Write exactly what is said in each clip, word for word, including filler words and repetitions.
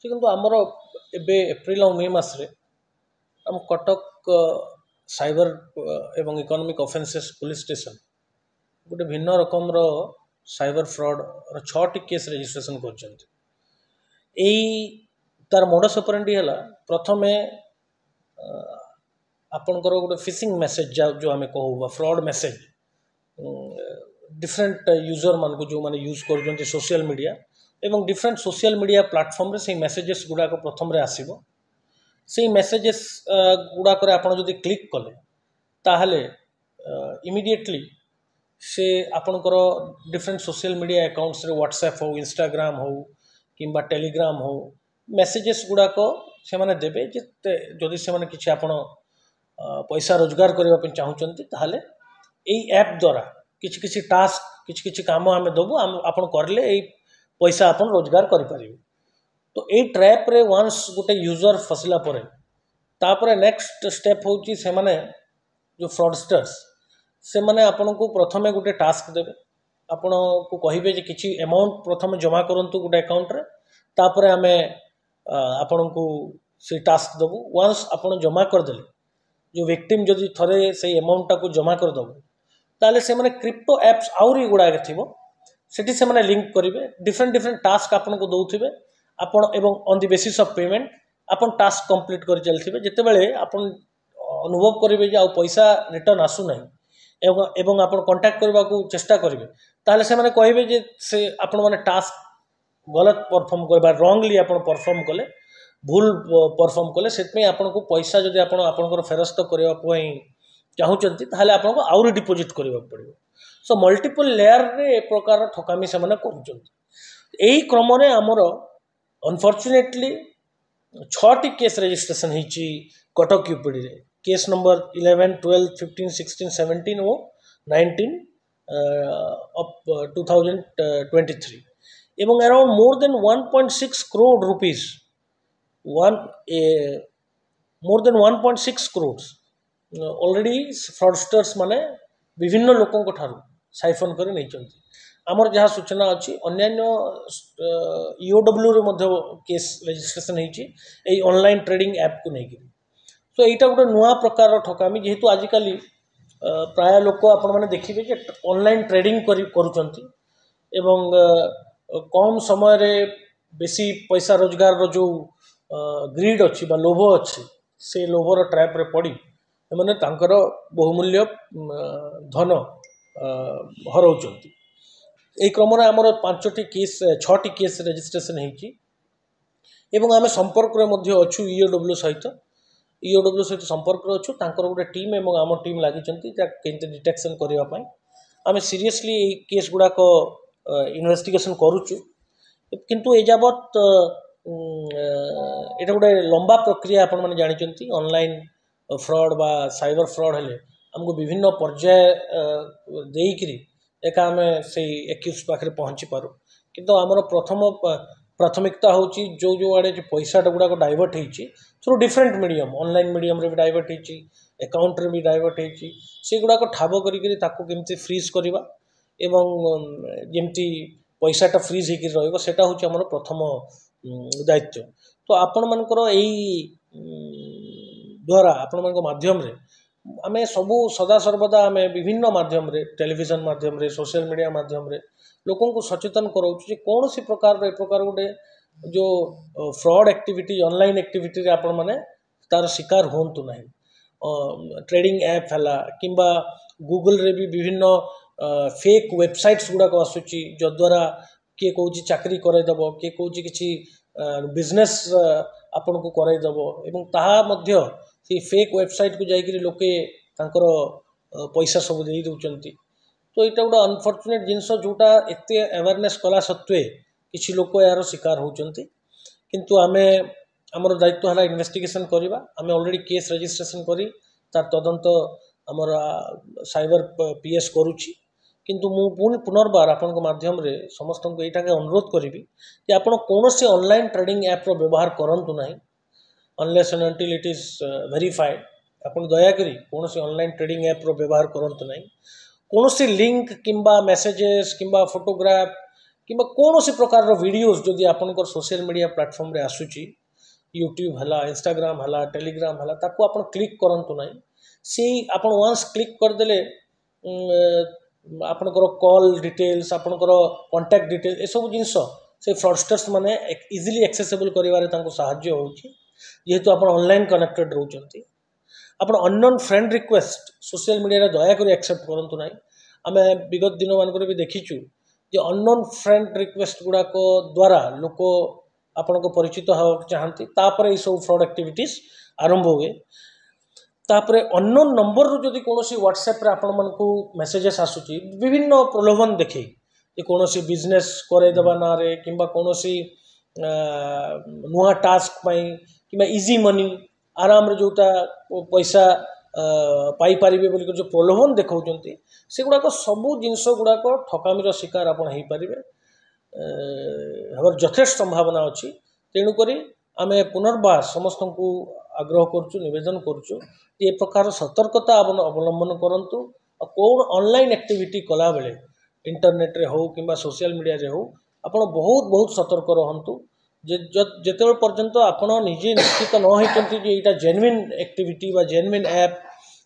କିନ୍ତୁ ଆମର ଏବେ ଏପ୍ରିଲ ଆଉ ମେ ମାସରେ ଆମ କଟକ ସାଇବର ଏବଂ ଇକୋନୋମିକ୍ ଅଫେନ୍ସେସ୍ ପୋଲିସ ଷ୍ଟେସନ ଗୋଟେ ଭିନ୍ନ ରକମର ସାଇବର ଫ୍ରଡ଼ର ଛଅଟି କେସ୍ ରେଜିଷ୍ଟ୍ରେସନ କରିଛନ୍ତି ଏଇ ତାର ମୋଡସ୍ ଅପରେଣ୍ଡି ହେଲା ପ୍ରଥମେ ଆପଣଙ୍କର ଗୋଟେ ଫିସିଂ ମେସେଜ ଯେଉଁ ଆମେ କହୁ ବା ଫ୍ରଡ଼ ମେସେଜ ଡିଫରେଣ୍ଟ ୟୁଜରମାନଙ୍କୁ ଯେଉଁମାନେ ୟୁଜ୍ କରୁଛନ୍ତି ସୋସିଆଲ ମିଡ଼ିଆ ଏବଂ ଡିଫରେଣ୍ଟ ସୋସିଆଲ ମିଡ଼ିଆ ପ୍ଲାଟଫର୍ମରେ ସେଇ ମେସେଜେସ୍ ଗୁଡ଼ାକ ପ୍ରଥମରେ ଆସିବ ସେଇ ମେସେଜେସ୍ ଗୁଡ଼ାକରେ ଆପଣ ଯଦି କ୍ଲିକ୍ କଲେ ତାହେଲେ ଇମିଡ଼ିଏଟଲି ସେ ଆପଣଙ୍କର ଡିଫରେଣ୍ଟ ସୋସିଆଲ ମିଡ଼ିଆ ଆକାଉଣ୍ଟସରେ ହ୍ୱାଟ୍ସଆପ୍ ହଉ ଇନଷ୍ଟାଗ୍ରାମ ହଉ କିମ୍ବା ଟେଲିଗ୍ରାମ ହଉ ମେସେଜେସ୍ ଗୁଡ଼ାକ ସେମାନେ ଦେବେ ଯେ ଯଦି ସେମାନେ କିଛି ଆପଣ ପଇସା ରୋଜଗାର କରିବା ପାଇଁ ଚାହୁଁଛନ୍ତି ତାହେଲେ ଏଇ ଆପ୍ ଦ୍ୱାରା କିଛି କିଛି ଟାସ୍କ କିଛି କିଛି କାମ ଆମେ ଦେବୁ ଆପଣ କରିଲେ ଏଇ ପଇସା ଆପଣ ରୋଜଗାର କରିପାରିବେ ତ ଏଇ ଟ୍ରାପ୍ରେ ୱାନ୍ସ ଗୋଟେ ୟୁଜର ଫସିଲା ପରେ ତାପରେ ନେକ୍ସଟ ଷ୍ଟେପ୍ ହେଉଛି ସେମାନେ ଯେଉଁ ଫ୍ରଡ଼ଷ୍ଟର୍ସ ସେମାନେ ଆପଣଙ୍କୁ ପ୍ରଥମେ ଗୋଟେ ଟାସ୍କ ଦେବେ ଆପଣଙ୍କୁ କହିବେ ଯେ କିଛି ଆମାଉଣ୍ଟ ପ୍ରଥମେ ଜମା କରନ୍ତୁ ଗୋଟେ ଆକାଉଣ୍ଟରେ ତାପରେ ଆମେ ଆପଣଙ୍କୁ ସେଇ ଟାସ୍କ ଦେବୁ ୱାନ୍ସ ଆପଣ ଜମା କରିଦେଲେ ଯେଉଁ ଭିକ୍ଟିମ୍ ଯଦି ଥରେ ସେଇ ଆମାଉଣ୍ଟଟାକୁ ଜମା କରିଦେବ ତାହେଲେ ସେମାନେ କ୍ରିପ୍ଟୋ ଆପ୍ସ ଆହୁରି ଗୁଡ଼ାକ ଥିବ ସେଠି ସେମାନେ ଲିଙ୍କ କରିବେ ଡିଫରେଣ୍ଟ ଡିଫରେଣ୍ଟ ଟାସ୍କ ଆପଣଙ୍କୁ ଦେଉଥିବେ ଆପଣ ଏବଂ on the basis of payment ଆପଣ ଟାସ୍କ କମ୍ପ୍ଲିଟ୍ କରି ଚାଲିଥିବେ ଯେତେବେଳେ ଆପଣ ଅନୁଭବ କରିବେ ଯେ ଆଉ ପଇସା ରିଟର୍ନ ଆସୁନାହିଁ ଏବଂ ଏବଂ ଆପଣ କଣ୍ଟାକ୍ଟ କରିବାକୁ ଚେଷ୍ଟା କରିବେ ତାହେଲେ ସେମାନେ କହିବେ ଯେ ସେ ଆପଣମାନେ ଟାସ୍କ ଗଲତ ପରଫର୍ମ କଲେ ବା ରଙ୍ଗଲି ଆପଣ ପରଫର୍ମ କଲେ ଭୁଲ ପରଫର୍ମ କଲେ ସେଥିପାଇଁ ଆପଣଙ୍କୁ ପଇସା ଯଦି ଆପଣ ଆପଣଙ୍କର ଫେରସ୍ତ କରିବା ପାଇଁ ଚାହୁଁଛନ୍ତି ତାହେଲେ ଆପଣଙ୍କୁ ଆହୁରି ଡିପୋଜିଟ୍ କରିବାକୁ ପଡ଼ିବ ସୋ ମଲ୍ଟିପଲ୍ ଲେୟାରରେ ଏ ପ୍ରକାର ଠକାମି ସେମାନେ କରୁଛନ୍ତି ଏହି କ୍ରମରେ ଆମର ଅନଫର୍ଚୁନେଟଲି ଛଅଟି କେସ୍ ରେଜିଷ୍ଟ୍ରେସନ ହେଇଛି Cuttack ୟୁପିଡ଼ିରେ case number eleven twelve fifteen sixteen seventeen O nineteen of two thousand twenty three ଏବଂ around more than one point six crore rupees one more than one point six crores already fraudsters ମାନେ ବିଭିନ୍ନ ଲୋକଙ୍କ ଠାରୁ siphon କରି ନେଇଛନ୍ତି ଆମର ଯାହା ସୂଚନା ଅଛି ଅନ୍ୟାନ୍ୟ ଇଓଡବ୍ଲ୍ୟୁରେ ମଧ୍ୟ କେସ୍ ରେଜିଷ୍ଟ୍ରେସନ ହେଇଛି ଏଇ ଅନଲାଇନ୍ ଟ୍ରେଡ଼ିଂ ଆପ୍କୁ ନେଇକିରି ତ ଏଇଟା ଗୋଟେ ନୂଆ ପ୍ରକାରର ଠକାମି ଯେହେତୁ ଆଜିକାଲି ପ୍ରାୟ ଲୋକ ଆପଣମାନେ ଦେଖିବେ ଯେ ଅନଲାଇନ୍ ଟ୍ରେଡ଼ିଂ କରି କରୁଛନ୍ତି ଏବଂ କମ୍ ସମୟରେ ବେଶୀ ପଇସା ରୋଜଗାରର ଯେଉଁ ଗ୍ରିଡ୍ ଅଛି ବା ଲୋଭ ଅଛି ସେ ଲୋଭର ଟ୍ରାପ୍ରେ ପଡ଼ି ସେମାନେ ତାଙ୍କର ବହୁମୂଲ୍ୟ ଧନ ହରାଉଛନ୍ତି ଏହି କ୍ରମରେ ଆମର ପାଞ୍ଚଟି କେସ୍ ଛଅଟି କେସ୍ ରେଜିଷ୍ଟ୍ରେସନ ହେଇଛି ଏବଂ ଆମେ ସମ୍ପର୍କରେ ମଧ୍ୟ ଅଛୁ ଇଓଡବ୍ଲ୍ୟୁ ସହିତ ଇଓଡବ୍ଲ୍ୟୁ ସହିତ ସମ୍ପର୍କରେ ଅଛୁ ତାଙ୍କର ଗୋଟେ ଟିମ୍ ଏବଂ ଆମ ଟିମ୍ ଲାଗିଛନ୍ତି ତାକୁ କେମିତି ଡିଟେକ୍ସନ୍ କରିବା ପାଇଁ ଆମେ ସିରିୟସଲି ଏଇ କେସ୍ ଗୁଡ଼ାକ ଇନଭେଷ୍ଟିଗେସନ୍ କରୁଛୁ କିନ୍ତୁ ଏ ଯାବତ୍ ଏଇଟା ଗୋଟେ ଲମ୍ବା ପ୍ରକ୍ରିୟା ଆପଣମାନେ ଜାଣିଛନ୍ତି ଅନଲାଇନ୍ ଫ୍ରଡ଼୍ ବା ସାଇବର ଫ୍ରଡ଼୍ ହେଲେ ଆମକୁ ବିଭିନ୍ନ ପର୍ଯ୍ୟାୟ ଦେଇକିରି ଏକା ଆମେ ସେଇ ଏକ୍ୟୁଜ୍ ପାଖରେ ପହଞ୍ଚି ପାରୁ କିନ୍ତୁ ଆମର ପ୍ରଥମ ପ୍ରାଥମିକତା ହେଉଛି ଯେଉଁ ଯେଉଁ ଆଡ଼େ ଯେଉଁ ପଇସାଟା ଗୁଡ଼ାକ ଡାଇଭର୍ଟ ହେଇଛି ଥ୍ରୁ ଡିଫରେଣ୍ଟ ମିଡ଼ିୟମ୍ ଅନଲାଇନ୍ ମିଡ଼ିୟମ୍ରେ ବି ଡାଇଭର୍ଟ ହେଇଛି ଆକାଉଣ୍ଟରେ ବି ଡାଇଭର୍ଟ ହେଇଛି ସେଗୁଡ଼ାକ ଠାବ କରିକିରି ତାକୁ କେମିତି ଫ୍ରିଜ୍ କରିବା ଏବଂ ଯେମିତି ପଇସାଟା ଫ୍ରିଜ୍ ହେଇକିରି ରହିବ ସେଇଟା ହେଉଛି ଆମର ପ୍ରଥମ ଦାୟିତ୍ୱ ତ ଆପଣମାନଙ୍କର ଏଇ ଦ୍ୱାରା ଆପଣମାନଙ୍କ ମାଧ୍ୟମରେ ଆମେ ସବୁ ସଦାସର୍ବଦା ଆମେ ବିଭିନ୍ନ ମାଧ୍ୟମରେ ଟେଲିଭିଜନ ମାଧ୍ୟମରେ ସୋସିଆଲ ମିଡ଼ିଆ ମାଧ୍ୟମରେ ଲୋକଙ୍କୁ ସଚେତନ କରାଉଛୁ ଯେ କୌଣସି ପ୍ରକାରର ଏ ପ୍ରକାର ଗୋଟେ ଯେଉଁ ଫ୍ରଡ଼୍ ଆକ୍ଟିଭିଟି ଅନଲାଇନ୍ ଆକ୍ଟିଭିଟିରେ ଆପଣମାନେ ତାର ଶିକାର ହୁଅନ୍ତୁ ନାହିଁ ଟ୍ରେଡ଼ିଂ ଆପ୍ ହେଲା କିମ୍ବା ଗୁଗଲରେ ବି ବିଭିନ୍ନ ଫେକ୍ ୱେବସାଇଟ୍ସ ଗୁଡ଼ାକ ଆସୁଛି ଯଦ୍ୱାରା କିଏ କହୁଛି ଚାକିରି କରାଇଦେବ କିଏ କହୁଛି କିଛି ବିଜନେସ୍ ଆପଣଙ୍କୁ କରାଇଦେବ ଏବଂ ତାହା ମଧ୍ୟ ସେଇ ଫେକ୍ ୱେବସାଇଟ୍କୁ ଯାଇକରି ଲୋକେ ତାଙ୍କର ପଇସା ସବୁ ଦେଇ ଦେଉଛନ୍ତି ତ ଏଇଟା ଗୋଟେ ଅନଫର୍ଚୁନେଟ୍ ଜିନିଷ ଯେଉଁଟା ଏତେ ଆୱାରନେସ୍ କଲା ସତ୍ତ୍ୱେ କିଛି ଲୋକ ଏହାର ଶିକାର ହେଉଛନ୍ତି କିନ୍ତୁ ଆମେ ଆମର ଦାୟିତ୍ୱ ହେଲା ଇନଭେଷ୍ଟିଗେସନ୍ କରିବା ଆମେ ଅଲରେଡ଼ି କେସ୍ ରେଜିଷ୍ଟ୍ରେସନ୍ କରି ତାର ତଦନ୍ତ ଆମର ସାଇବର ପି ଏସ୍ କରୁଛି କିନ୍ତୁ ମୁଁ ପୁଣି ପୁନର୍ବାର ଆପଣଙ୍କ ମାଧ୍ୟମରେ ସମସ୍ତଙ୍କୁ ଏଇଟାକେ ଅନୁରୋଧ କରିବି ଯେ ଆପଣ କୌଣସି ଅନଲାଇନ୍ ଟ୍ରେଡ଼ିଂ ଆପ୍ର ବ୍ୟବହାର କରନ୍ତୁ ନାହିଁ unless and until it is verified ଆପଣ ଦୟାକରି କୌଣସି ଅନଲାଇନ୍ ଟ୍ରେଡ଼ିଂ ଆପ୍ର ବ୍ୟବହାର କରନ୍ତୁ ନାହିଁ କୌଣସି ଲିଙ୍କ କିମ୍ବା ମେସେଜେସ୍ କିମ୍ବା ଫଟୋଗ୍ରାଫ କିମ୍ବା କୌଣସି ପ୍ରକାରର ଭିଡ଼ିଓଜ୍ ଯଦି ଆପଣଙ୍କର ସୋସିଆଲ ମିଡ଼ିଆ ପ୍ଲାଟଫର୍ମରେ ଆସୁଛି ୟୁଟ୍ୟୁବ୍ ହେଲା ଇନଷ୍ଟାଗ୍ରାମ ହେଲା ଟେଲିଗ୍ରାମ ହେଲା ତାକୁ ଆପଣ କ୍ଲିକ୍ କରନ୍ତୁ ନାହିଁ ସେଇ ଆପଣ ୱାନ୍ସ କ୍ଲିକ୍ କରିଦେଲେ ଆପଣଙ୍କର କଲ୍ ଡିଟେଲ୍ସ ଆପଣଙ୍କର କଣ୍ଟାକ୍ଟ ଡିଟେଲ୍ସ ଏସବୁ ଜିନିଷ ସେ ଫ୍ରଡ଼ଷ୍ଟର୍ସ ମାନେ ଇଜିଲି ଆକ୍ସେସେବଲ୍ କରିବାରେ ତାଙ୍କୁ ସାହାଯ୍ୟ ହେଉଛି ଯେହେତୁ ଆପଣ ଅନଲାଇନ୍ କନେକ୍ଟେଡ଼ ରହୁଛନ୍ତି ଆପଣ ଅନନୋନ୍ ଫ୍ରେଣ୍ଡ ରିକ୍ୱେଷ୍ଟ ସୋସିଆଲ ମିଡ଼ିଆରେ ଦୟାକରି ଆକ୍ସେପ୍ଟ କରନ୍ତୁ ନାହିଁ ଆମେ ବିଗତ ଦିନମାନଙ୍କରେ ବି ଦେଖିଛୁ ଯେ ଅନନୋନ୍ ଫ୍ରେଣ୍ଡ ରିକ୍ୱେଷ୍ଟ ଗୁଡ଼ାକ ଦ୍ୱାରା ଲୋକ ଆପଣଙ୍କ ପରିଚିତ ହେବାକୁ ଚାହାନ୍ତି ତାପରେ ଏଇସବୁ ଫ୍ରଡ଼୍ ଆକ୍ଟିଭିଟିସ୍ ଆରମ୍ଭ ହୁଏ ତାପରେ ଅନନୋନ୍ ନମ୍ବରରୁ ଯଦି କୌଣସି ହ୍ୱାଟ୍ସଆପ୍ରେ ଆପଣମାନଙ୍କୁ ମେସେଜେସ୍ ଆସୁଛି ବିଭିନ୍ନ ପ୍ରଲୋଭନ ଦେଖେଇ ଯେ କୌଣସି ବିଜନେସ୍ କରେଇଦେବା ନାଁରେ କିମ୍ବା କୌଣସି ନୂଆ ଟାସ୍କ ପାଇଁ କିମ୍ବା ଇଜି ମନି ଆରାମରେ ଯେଉଁଟା ପଇସା ପାଇପାରିବେ ବୋଲି ଯେଉଁ ପ୍ରଲୋଭନ ଦେଖାଉଛନ୍ତି ସେଗୁଡ଼ାକ ସବୁ ଜିନିଷ ଗୁଡ଼ାକ ଠକାମିର ଶିକାର ଆପଣ ହେଇପାରିବେ ହେବାର ଯଥେଷ୍ଟ ସମ୍ଭାବନା ଅଛି ତେଣୁକରି ଆମେ ପୁନର୍ବାର ସମସ୍ତଙ୍କୁ ଆଗ୍ରହ କରୁଛୁ ନିବେଦନ କରୁଛୁ ଯେ ଏ ପ୍ରକାର ସତର୍କତା ଅବଲମ୍ବନ କରନ୍ତୁ ଆଉ କେଉଁ ଅନଲାଇନ୍ ଆକ୍ଟିଭିଟି କଲାବେଳେ ଇଣ୍ଟରନେଟ୍ରେ ହେଉ କିମ୍ବା ସୋସିଆଲ ମିଡ଼ିଆରେ ହେଉ ଆପଣ ବହୁତ ବହୁତ ସତର୍କ ରହନ୍ତୁ ଯେ ଯେତେବେଳେ ପର୍ଯ୍ୟନ୍ତ ଆପଣ ନିଜେ ନିଶ୍ଚିତ ନ ହେଇଛନ୍ତି ଯେ ଏଇଟା ଜେନୁଇନ୍ ଆକ୍ଟିଭିଟି ବା ଜେନୁଇନ୍ ଆପ୍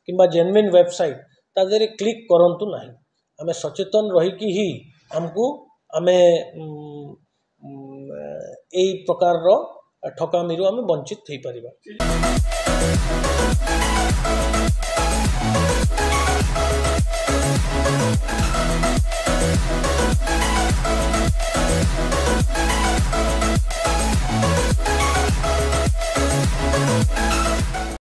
କିମ୍ବା ଜେନୁଇନ୍ ୱେବସାଇଟ୍ ତା ଦେହରେ କ୍ଲିକ୍ କରନ୍ତୁ ନାହିଁ ଆମେ ସଚେତନ ରହିକି ହିଁ ଆମକୁ ଆମେ ଏଇ ପ୍ରକାରର ଠକାମିରୁ ଆମେ ବଞ୍ଚିତ ହେଇପାରିବା।